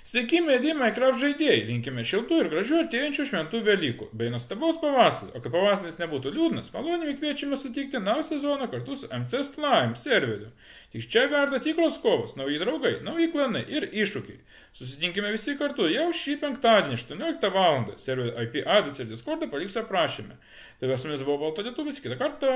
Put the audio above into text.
Sveiki, mėly Minecraft žaidėjai, linkime šiltų ir gražių artėjančių šventų Velykų, bei nuostabaus pavasario, o kad pavasaris nebūtų liūdnas, maloniai kviečiame sutikti naują sezoną kartu su MC Slime serveriu. Tik čia verda tikros kovos, nauji draugai, nauji klanai ir iššūkiai. Susitinkime visi kartu jau šį penktadienį 18 val. Serverio IP adresą ir Discordą paliksiu aprašyme. Tai su jumis buvo Balta Lietuvis, kitą kartą.